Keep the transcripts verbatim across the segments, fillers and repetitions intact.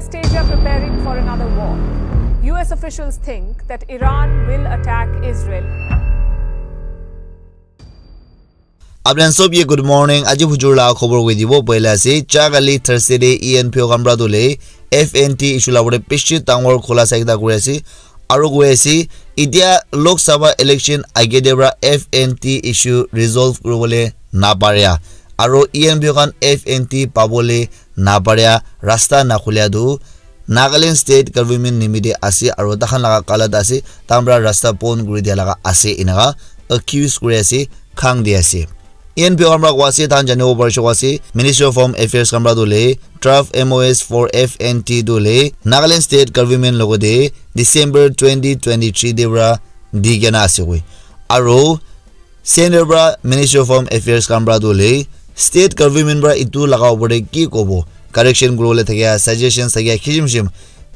States are preparing for another war. U S officials think that Iran will attack Israel. Apni khan sob ke good morning. Aji hujur la khobor koi dibo. Poila ase, ja kali Thursday de E N P O khan pra tu le F N T issue la bore bishi dangor khulasa ekta kuri ase. Aro koi ase, itia Lok Sabha election age de pra F N T issue resolve kuribole naparia. Aro E N P O khan F N T pabole naparia, rasta nakhulia tu Nagaland state government nimite ase, aro takhan laga galat ase, takhan pra rasta bon kuri dia laga ase, enaka accuse kuri ase, khang di ase. E N P O khan pra koa ase, takhan janibo parishe koa ase, Ministry of Home Affairs khan pra tu le draft M O S for F N T tu le Nagaland state government logote December twenty twenty-three de pra di kena ase koi. Aro Center pra Ministry of Home Affairs khan pra tu le state government pra itu laga opor te ki kobo, correction kuribole thakia, suggestions thakia, khishim khishim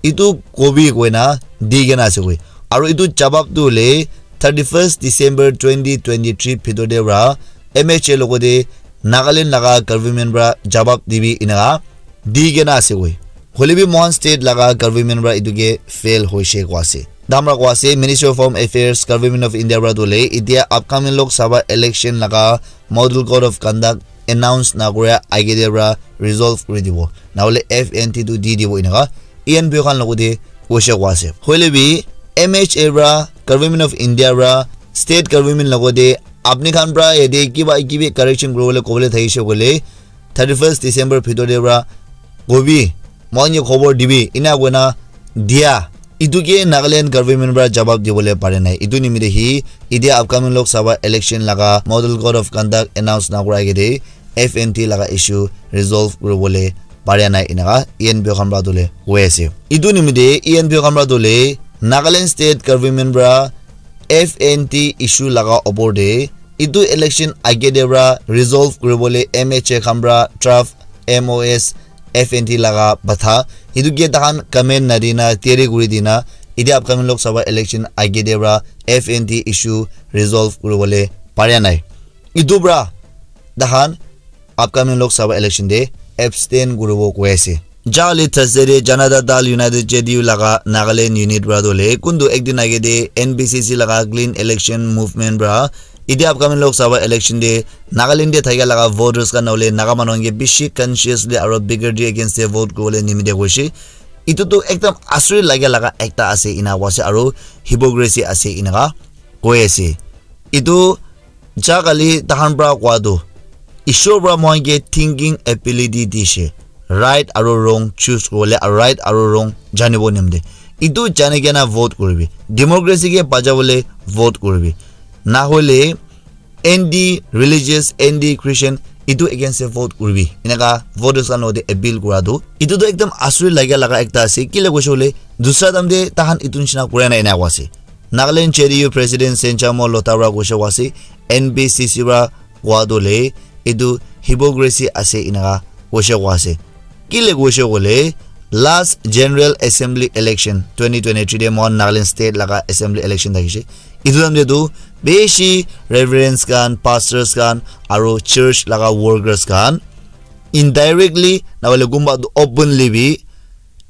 itu kobi koina di kena ase koi. Aro itu jawab tu le thirty-first December twenty twenty-three bhitor te pra M H A logote Nagaland laga government pra jawab dibi enaka di kena ase koi. Hoile bi mohan state laga government pra itu ke fail hoishe koa ase. Takhan pra koa ase, Ministry of Home Affairs, Government of India pra tu le itia upcoming Lok Sabha election laga Model Code of Conduct announce nakuria age de pra resolve kuri dibo. Nahole F N T tu di dibo enaka E N P O khan logote koishe koa ase. Hoile bi M H A pra, Government of India pra, state government logote apni khan pra yate kiba kibi correction kuribole kobole thakishe koile thirty-first December bhitor te pra kobi, mohan ke khobor dibi, ena koina dia. Itu ke Nagaland government pra jawab dibole pare nai. Itu nimite hi, itia upcoming Lok Sabha election laga Model Code of Conduct announce nakura age de F N T laga issue resolve kuribole pare nai enaka E N P O khan pra tu le koi ase. Itu nimite E N P O khan pra tu le Nagaland state government pra F N T issue laga opor te itu election age de pra resolve kuribole M H A khan pra draft M O S F N T laga batha itu ke takhan comment nadina teri kuri dina, itia upcoming Lok Sabha election age de pra F N T issue resolve kuribole paria nai. Itu pra takhan upcoming Lok Sabha election te abstain kuribo koi ase. Jali Thursday de Janata Dal United, J D U laga Nagaland unit pra tu le kuntu ekdin age de N B C C laga clean election movement pra itia upcoming Lok Sabha election te Nagaland te thakia laga voters khan nahole Naga manu khan ke bishi consciously aro bigotry against te vote kuribole nimite koishe. Itu tu ekdam asuri lagia laga ekta ase ena koa ase aro hypocrisy ase enaka koi ase. Itu ja kali takhan pra koa tu Ishwar pra mohan ke thinking ability dishe, right aro wrong choose kuribole aro right aro wrong janibo nimite. Itu jani kena vote kuribi. Democracy ke bachabole vote kuribi. Nahole anti religious, anti Christian itu against te vote kuribi. Enaka voters khan logote appeal kura tu itu tu ekdam asuri lagia laga ekta ase. Kile koishe koile dusra time te takhan itu nishina kura nai ena koa ase. Nagaland J D U President Senchamo Lotha pra koishe koa ase, N B C C pra koa tu le itu hypocrisy ase enaka koishe koa ase. Kile koishe koile last General Assembly election twenty twenty-three de mohan Nagaland state laga assembly election thakishe. Itu time te tu bishi reverends khan, pastors khan aro church laga workers khan indirectly nahole kunba tu openly bi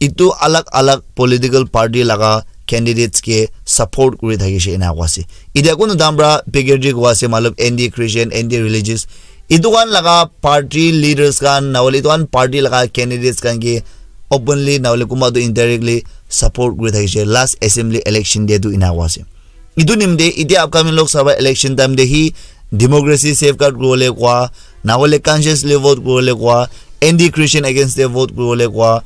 itu alag alag political party laga candidates ke support kuri thakishe ena koa ase. Itia kunu time pra bigotry koa ase, matlab anti Christian, anti religious. Itu khan laga party leaders khan nahole itu khan party laga candidates khan ke openly nahole kunba tu indirectly support kuri thakishe last assembly election de tu ena koa ase. Itu nimite itia upcoming Lok Sabha election time te hi democracy safeguard kuribole koa, nahole consciously vote kuribole koa, anti Christian against te vote kuribole koa,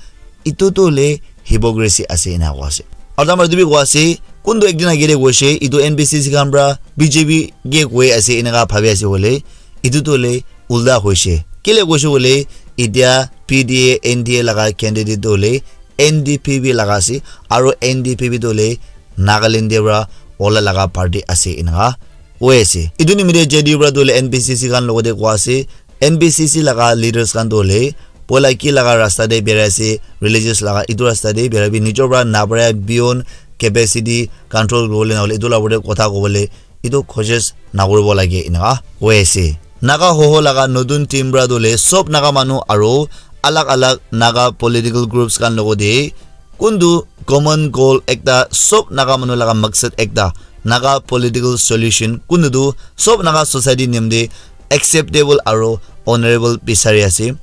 itu tu le hypocrisy ase ena koa ase. Aru tamar tu bi koa ase, kuntu ekdin age de koishe, itu N B C C khan pra B J P ke koi ase enaka bhabi ase koile, itu tu le ulta hoishe. Kile koishe koile, itia P D A, N D A laga candidate tu le N D P P laga ase, aro N D P P tu le Nagaland te pra ola laga party ase enaka koi ase. Itu nimite J D U pra tu le N B C C khan logote koa ase, N B C C laga leaders khan tu le poila ki laga rasta te birai ase, religious laga itu rasta te birai bi nijor pra nabara beyond capacity control kuribole nahole itu la opor te kotha kobole itu koshish nakuribo lage enaka koi ase. Naga Hoho laga notun team pra tu le sob Naga manu aro alag alag Naga political groups khan logo de kuntu common goal ekta, sob Naga manu laga maksad ekta, Naga political solution, kuntu tu sob Naga society nimde acceptable aro honorable bisari ase.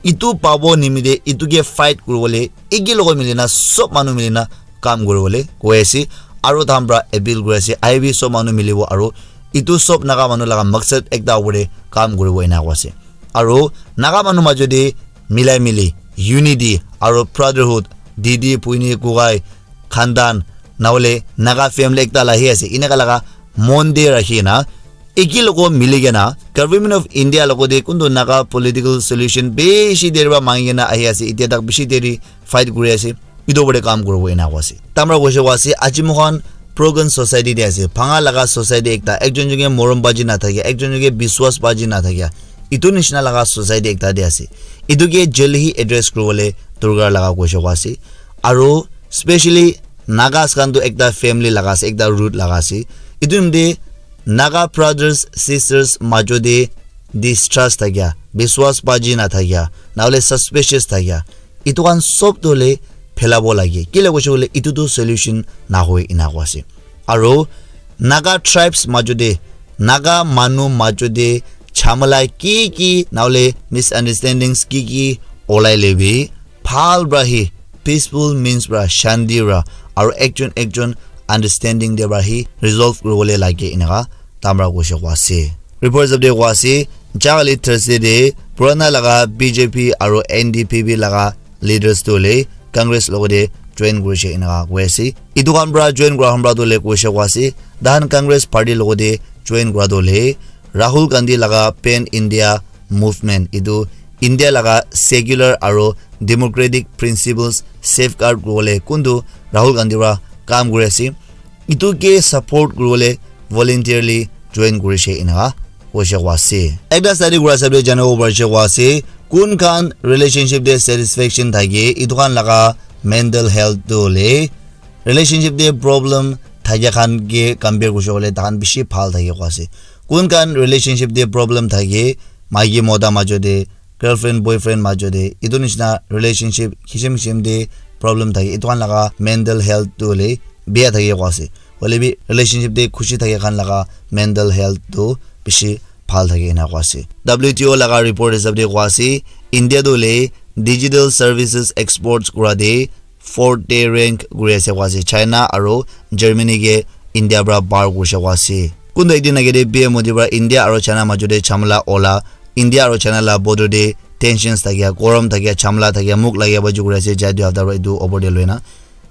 Itu pabo nimide itu ke fight kuribole eki logo milina sob manu milina kam kuribole koi ase. Aro tahan pra appeal kuri ase, aibi sob manu milibo aro itu sob Naga manu laga maksad ekta opor te kam kuribo ena koi ase. Aro Naga manu majo te milai mili unity aro brotherhood, didi, puini, kukai, khandan, nahole Naga family ekta la hi ase, eneka laga mon te rakhi na eki logo mili kena Government of India logo te kuntu Naga political solution bishi deri pra mangi kena ahi ase, itya tak bishi deri fight kuri ase, itu opor te kam kuribo ena koi ase. Tamra koise koi ase, aji moikhan broken society te ase, bhanga laga society ekta, ekjon jone morom baji na thakia, ekjon jone biswas baji na thakia, itu nishina laga society ekta te ase. Itu ke jaldi hi address kuribole dorkar laga koise koi ase. Aro specially Nagas khan tu ekta family laga ase, ekta root laga ase. Itu nimite Naga brothers sisters majo te distrust thakia, biswas baji na thakia, nahole suspicious thakia, itu khan sob tu le phelabo lage. Kile koise koile itu tu solution nahoi ena koi ase. Aro Naga tribes majo te, Naga manu majo te jhamela ki ki, nahole misunderstandings ki ki olai lebi, bhal pra hi, peaceful means pra, shanti pra, aro ekjon ekjon understanding te pra hi resolve kuribole lage, eneka tamra koise koi ase. Report hisab te koi ase, jali Thursday te purana laga B J P aro N D P P laga leaders tu le Congress logo te join kurise eneka koi ase. Itu khan pra join kura khan pra tu le koise koi ase, tahan Congress party logo te join kura tu le Rahul Gandhi laga Pan India movement, itu India laga secular aro democratic principles safeguard kuribole kuntu Rahul Gandhi pra kam kuri ase, itu ke support kuribole voluntarily join kurise eneka koise koi ase. Ekta study kura hisab te janibo parise koi ase, kun khan relationship te satisfaction thake, itu khan laga mental health tu le relationship te problem thakia khan ke compare kurise koile tahan bishi bhal thake koi ase. Kun khan relationship te problem thake, maiki mota majo te, girlfriend boyfriend majo te, itu nishina relationship kisim kisim te problem thake, itu khan laga mental health tu hoile bia thake koi ase. Hoile bi relationship te khushi thake khan laga mental health tu bishi bhal thake ena koi ase. W T O laga report hisab te koi ase, India tu hoile digital services exports kura te fourth te rank kuri ase koi ase. China aro Germany ke India pra par kurise koi ase. Kuntu ekdin age te P M Modi pra India aro China majo te jhamela ola, India aro China la border te tensions thakia, gorom thakia, jhamela thakia, muk lagia baji kuri ase, jai dui hafta pra itu opor te loi na.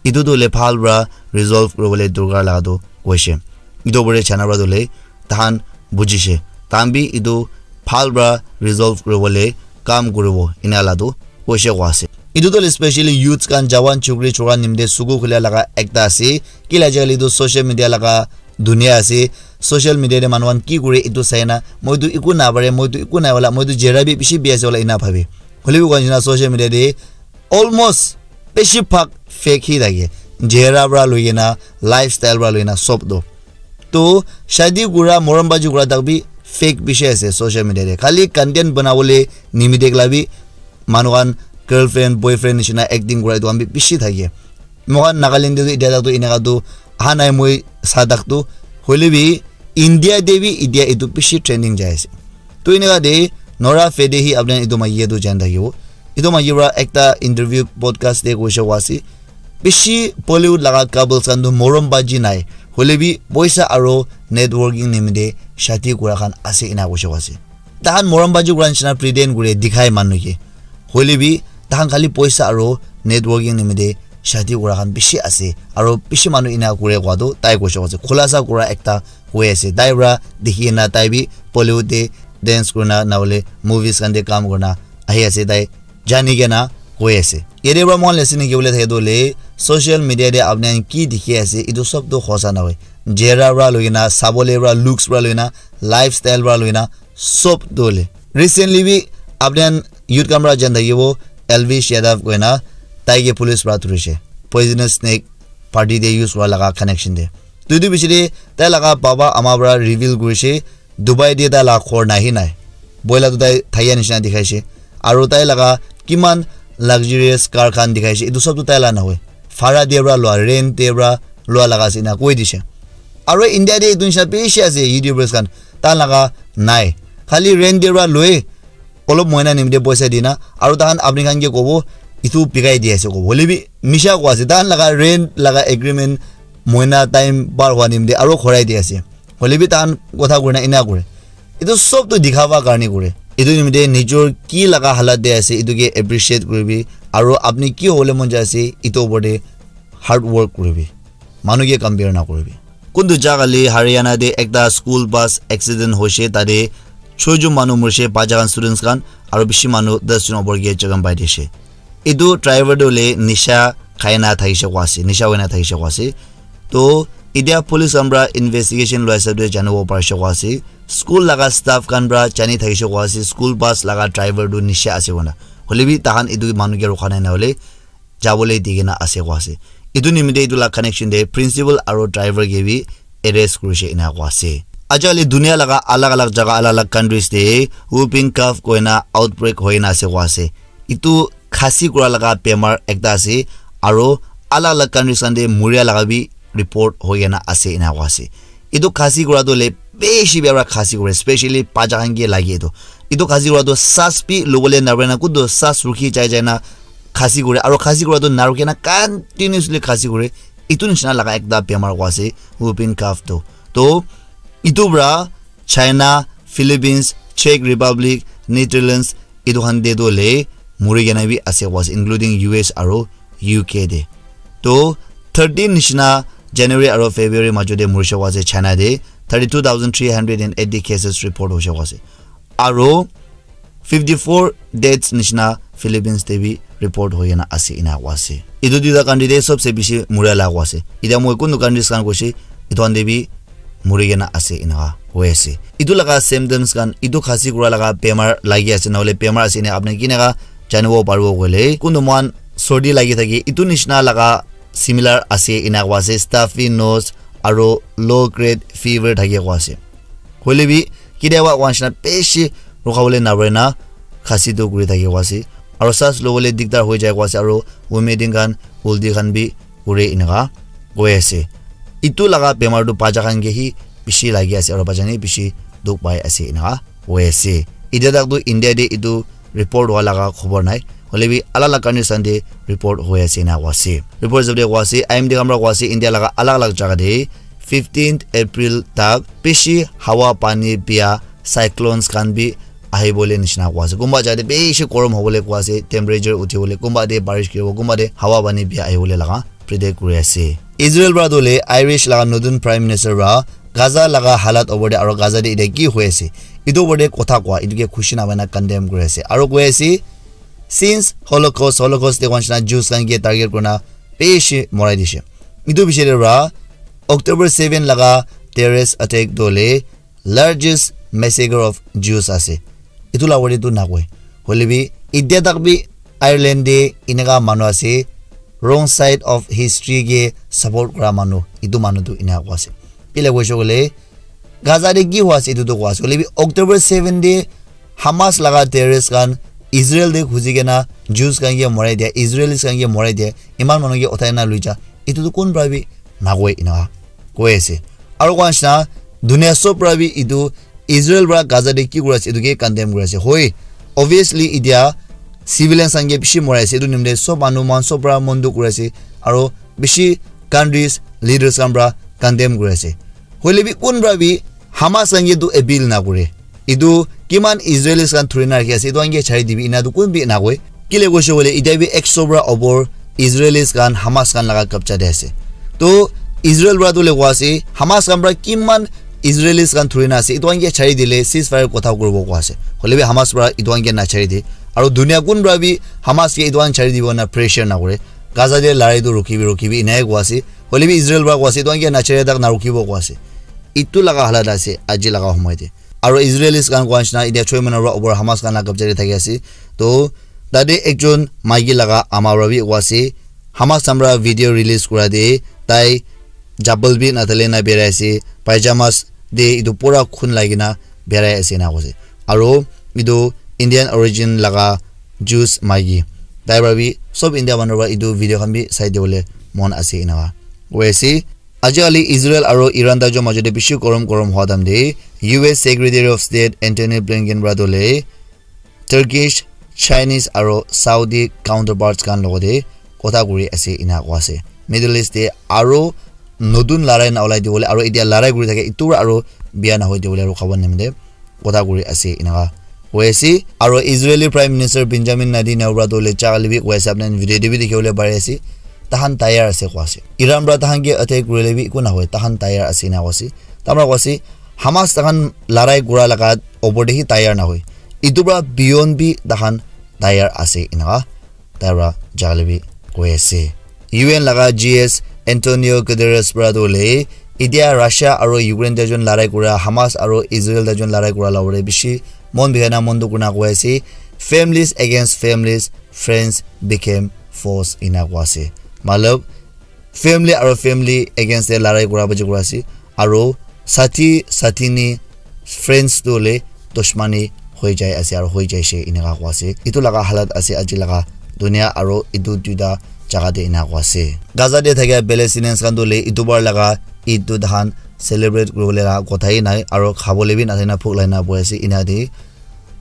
Itu tu le bhal pra resolve kuribole dorkar laga tu koise. Itu opor te China pra tu le tahan bujise. Tahan bi itu bhal pra resolve kuribole kam kuribo ena la tu koise koi ase. Itu tu le specially youths khan, jawan, chukri, chura nimite suku khula laga ekta ase. Kila ajikali tu social media laga dunia ase. Social media te manu khan ki kure itu sai na, moi tu eku na pare, moi tu eku nai wala, moi tu jera bi bishi bi ase wala ena bhabe. Hoile bi koi nishina social media te almost bishi bhag fake hi thake. Jera pra loi kena, lifestyle pra loi kena sob tu. To shadi kura, morom baji kura tak bi fake bishi ase social media te. Khali content banabole nimite la bi manu khan girlfriend, boyfriend nishina acting kura itu khan bi bishi thake. Moikhan Nagaland te tu itya tak tu eneka tu aha nai, moi sa tak tu. Hoile bi India te bi itya itu bishi trending jai ase. To eneka te Nora Fatehi apni khan itu maiki ke tu jan thakibo. Itu maiki pra ekta interview podcast te koise koi ase, bishi Bollywood laga couples khan tu morom baji nai, hoile bi poisa aro networking nimite shadi kura khan ase ena koise koi ase. Tahan morom baji kura nishina pretend kure dikhai manu ke. Hoile bi tahan khali poisa aro networking nimite shadi kura khan bishi ase, aro bishi manu ena kure koi tu tai koise koi ase. Khulasa kura ekta koi ase. Tai pra dikhi na tai bi Bollywood te dance kurina nahole movies khan te kam kurina ahi ase, tai jani kena koi ase. Yate pra moikhan lesson nikibole thake tu hoile social media te apni khan ki dikhi ase itu sob tu hosa nahoi. Jera pra loi kena, sabole pra, looks pra loi kena, lifestyle pra loi kena, sob tu hoile. Recently bi apni khan youth khan pra jan thakibo, Elvish Yadav koina, tai ke police pra dhurishe. Poisonous snake party te use kura laga connection te. Tuitu bishi te tai laga baba ama pra reveal kurishe, Dubai te tai laga ghor nahi nai. Boila tu tai thaya nishina dikhaishe. Aru tai laga kiman luxurious car khan dikhai ase, etu sob tu tai la nahoi, bhara te para lua, rent te para lua laga ase ena koi dishe. Aro India te etu nisha bishi ase YouTubers khan, tai laga nai, khali rent te para loi, olop moina nimite poisa dina, aro tahan apni khan ke kobo, itu bikai di ase kobo. Hoile bi misha koa ase, tahan laga rent laga agreement moina time par hua nimite aro khorai di ase. Hoile bi tahan kotha kurina ena kure. Itu sob tu dikhawa karne kure. Itu nimite nijor ki laga halat de ase, itu ke appreciate kuribi. Aro apni ki hobole mon jai ase, itu opor de hard work kuribi. Manu ke compare na kuribi. Kuntu jaga le Haryana de ekta school bus accident hoishe, tade choijon manu morishe, paja khan students khan, aro bishi manu das jon opor ke jakham pai dishe. Etu driver tu le nisha khai na thakishe koa ase, nisha hoi na thakishe koa ase. To, etia police khan pra investigation loi hisab de janibo parishe koa ase. School laga staff khan pra jani thakishe koa ase, school bus laga driver tu nisha ase koina. Hoile bi tahan etu manu ke rukha nai na hole, jabole di kena ase koa ase. Etu nimite etu la connection de principal aro driver ke bi arrest kurishe ena koa ase. Ajali dunia laga alag alag jaga, alag alag countries de whooping cough koina outbreak hoina ase koa ase. Etu khasi kura laga bemar ekta ase, aro alag alag countries khan de muria laga bi report hoi kena ase ena koa ase. Etu khasi kura tu le bishi bia para khasi kure, specially paja khan ke lage etu. Etu khasi kura tu sas bi lobole na pare na, kuntu sas rukhi jai jai na khasi kure, aro khasi kura tu na rukhi na continuously khasi kure. Etu nishina laga ekta bemar koa ase, whooping cough tu. To, etu pra China, Philippines, Czech Republic, Netherlands, etu khan de tu le muri kena bi ase koa ase, including U S aro U K de. To, thirteen nishina January aro February majo de murishe koa ase China de, thirty two thousand three hundred and eighty cases report hoishe koa ase. Aro fifty four deaths nishina Philippines de bi report hoi kena ase ena koa ase. Etu duita country de sobse bishi muria la koa ase. Etia moi kuntu countries khan koishe, etu khan de bi muri kena ase ena hoi ase. Etu laga symptoms khan, etu khasi kura laga bemar lagi ase na hole bemar ase ena apni kineka janibo paribo koile, kuntu moihan sordi lagi thake, etu nishina laga similar ase ena koa ase, stuffy nose aro low grade fever thake koa ase. Hoile bi, ketiaba koa nishina bishi rukha bole na pare na, khasi tu kuri thake koa ase. Aro sas lobole dikdar hoi jai koa ase, aro vomiting khan, ulti khan bi kure eneka koi ase. Etu laga bemar tu bacha khan ke hi bishi lagi ase, aro bacha khan hi bishi dukh pai ase eneka koi ase. Etia tak tu India de etu report hua laga khobor nai. Hoile bi alag alag countries khan de report hoi ase ena koa ase. Report hisab de koa ase, I M D khan para koa ase, India laga alag alag jaga de fifteenth April tak bishi hawa pani bia cyclones khan bi ahi bole nishina koa ase. Kunba jaga de bishi gorom hobole koa ase, temperature uthi bole, kunba de barish kuri bo, kunba de hawa pani bia ahi bole laga predict kuri ase. Israel para tu le Irish laga notun Prime Minister para Gaza laga halat opor de aro Gaza de etia ki hoi ase, etu opor de kotha koa, etu ke khushi na hoina condemn kuri ase. Aro koi ase, since Holocaust, Holocaust de koa nishina Jews khan ke target kurina bishi morai dishe. Etu piche de para October seven laga terrorist attack tu le largest massacre of Jews ase. Etu la wale tu nakoi. Hoile bi, etia tak bi Ireland de eneka manu ase, wrong side of history ke support kura manu, etu manu tu eneka koa ase. Kile koishe koile, Gaza de ki hua ase, etu tu koa ase. Hoile bi, October seven de Hamas laga terrorist khan Israel de khuji kena Jews khan ke morai dia, Israelis khan ke morai dia, iman manu ke uthai na lui ja, etu tu kun para bi nakoi eneka koi ase. Aro koa nishina, dunia sob para bi etu Israel para Gaza de ki kuri ase, etu ke condemn kuri ase. Hoi, obviously, etia civilians khan ke bishi morai ase, etu nimite sob manu moihan sob para mon dukh kuri ase, aro bishi countries, leaders khan para condemn kuri ase. Hoile bi, kun para bi Hamas khan ke etu appeal na kure. Etu kiman Israelis khan thuri na rakhi ase, etu khan ke chari dibi, ena tu kun bi na koi. Kile koishe koile, etia bi ekso para opor Israelis khan Hamas khan laga kabja de ase. To Israel para tu le koa ase, Hamas khan para kiman Israelis khan thuri na ase, etu khan ke chari dile ceasefire kotha kuribo koa ase. Hoile bi Hamas para etu khan ke na chari de. Aro dunia kun para bi Hamas ke etu khan chari dibo na pressure na kure. Gaza de larai tu rukibi, rukibi, enai koa ase. Hoile bi Israel para koa ase, etu khan ke na chari tak na rukibo koa ase. Etu laga halat ase, aji laga homoi de. Aro Israelis khan koa nishina, etia choi manu para opor Hamas khan la kabja de thaki ase. To, tate ekjon maiki laga ama para bi koa ase, Hamas khan para video release kura de, tai chapel bi nadali na birai ase, pajamas de etu pura khun lagi na birai ase ena koa ase. Aro etu Indian origin laga Jews maiki. Tai para bi sob India manu para etu video khan bi sai dibole mon ase enaka koi ase. Ajikali Israel aro Iran tai jun majo te bishi gorom gorom hua time te U S Secretary of State Antony Blinken para tu le Turkish, Chinese aro Saudi counterparts khan logote kotha kuri ase ena koa ase. Middle East te aro notun larai na olai dibole aro etia larai kuri thake etu para aro bia nahoi dibole aro khabon nimite kotha kuri ase enaka koi ase. Aro Israeli Prime Minister Benjamin Netanyahu para tu le chakali bi koi ase, apni khan video te bi dikhi bole pari ase. Tahan tayar ase koa ase. Iran para tahan ke attack kurile bi eku nahoi, tahan tayar ase ena koa ase. Tamra koa ase Hamas tahan larai kura laga opor te hi tayar nahoi. Etu para beyond bi tahan tayar ase enaka tai para jale bi koi ase. U N laga G S Antonio Guterres para tu le etia Russia aro Ukraine tai jun larai kura, Hamas aro Israel tai jun larai kura la opor te bishi mon bihai na mon dukh kurina koi ase, families against families, friends became foes ena koa ase. Matlab family aro family against te larai kura baji kura ase aro sathi sathi ni friends tu le dushmani hoi jai ase aro hoi jai she enaka koa ase. Etu laga halat ase aji laga dunia aro etu duita jaga te ena koa ase. Gaza te thakia Palestinians khan tu le etu bar laga Eid tu tahan celebrate kuribole laga kotha hi nai aro khabole bi nathai na phuk lai na boi ase ena de.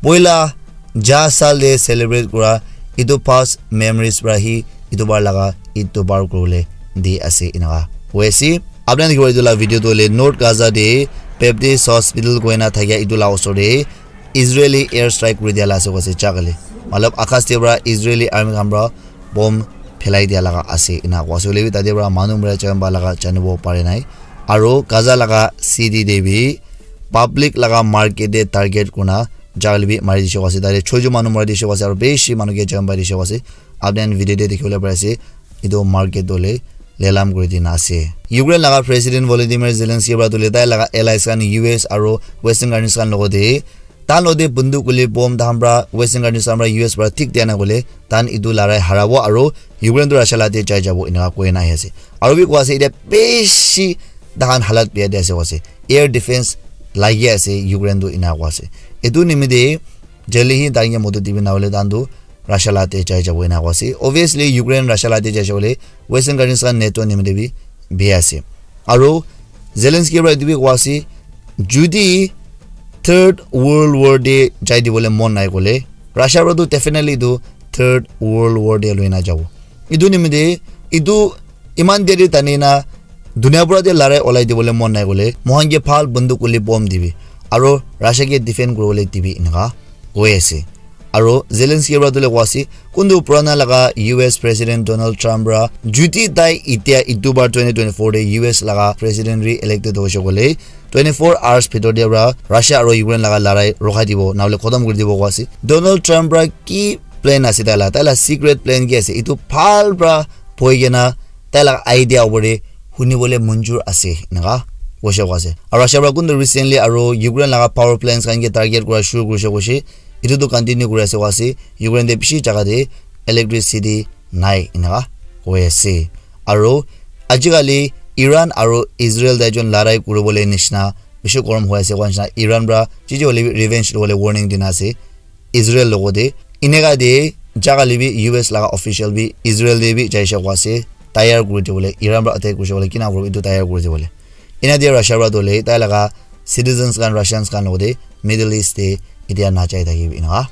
Poila ja sal de celebrate kura etu past memories para hi etu bar laga Eid tu par kuribole di ase enaka koi ase. Apni khan dikhibo etu la video tu le North Gaza de Baptist Hospital koina thakia etu la osor de Israeli air strike kuri dia la ase koi ase chakale. Matlab akas te para Israeli army khan para bomb phelai dia laga ase ena koi ase. Hoile bi tate para manu mara jamba laga janibo pare nai. Aro Gaza laga city de bi public laga market de target kurina jale bi mari dishe koi ase. Tate choijo manu mari dishe koi ase aro bishi manu ke jamba dishe koi ase. Apni khan video de dikhi bole pari ase. Etu market tu le lelam kuri dina ase. Ukraine laga President Volodymyr Zelensky para tu le tai laga allies khan U S aro Western countries khan logote tahan logote bunduk kuli bom tahan para Western countries khan para U S para thik dia na kole tahan etu larai harabo aro Ukraine tu Russia la te jai jabo enaka koi na ahi ase. Aro bi koi ase etia bishi tahan halat bia de ase koi ase. Air defense lagi ase Ukraine tu enaka koi ase. Etu nimite jale hi tahan ke modot dibi na hole tahan tu Russia la te jai jabo enaka koi ase. Obviously Ukraine Russia la te jai jabo le Western countries khan NATO nimite bi bia ase. Aro Zelensky para etu bi koi ase judi third world war de jai dibole mon nai kole Russia para tu definitely tu third world war de loi na jabo. Etu nimite etu iman deri tani na dunia pura te larai olai dibole mon nai kole mohan ke bhal bunduk kuli bom dibi aro Russia ke defend kuribole dibi enaka koi ase. Aro Zelensky para tu le koi ase kuntu purana laga U S President Donald Trump para judi tai etia etu bar twenty twenty-four de U S laga president re-elected hoise kole twenty-four hours bhitor de para Russia aro Ukraine laga larai rokhai dibo nahole khotom kuri dibo koi ase. Donald Trump para ki plan ase tai la, tai la secret plan ki ase etu bhal para poi kena tai laga idea opor de huni bole manjur ase enaka koise koi ase. Aro Russia para kuntu recently aro Ukraine laga power plants khan ke target kura shuru kurise koise. Etu tu continue kuri ase koi ase. Ukraine te bishi jaga te electricity nai enaka koi ase. Aro ajikali Iran aro Israel tai jun larai kuribole nishina bishi gorom hoi ase koi nishina Iran para jiji hole bi revenge lobole warning dina ase. Israel logote eneka de jaga le bi U S laga official bi Israel de bi jaise koi ase tayar kuri dibole Iran para attack kuri dibole kina kuri etu tayar kuri dibole ena de Russia para dole tai laga citizens khan Russians khan logote Middle East de etia na jai thaki bi eneka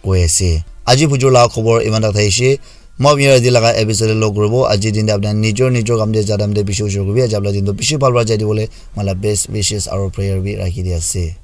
koi ase. Aji bujur laga khobor iman tak thaishe. Moi apni yate laga episode log kuribo aji din de apni nijor nijor kam de jadam de bishi ujor kuribi aji apni din to bishi bhal para jai dibole mala best wishes aro prayer bi rakhi di ase.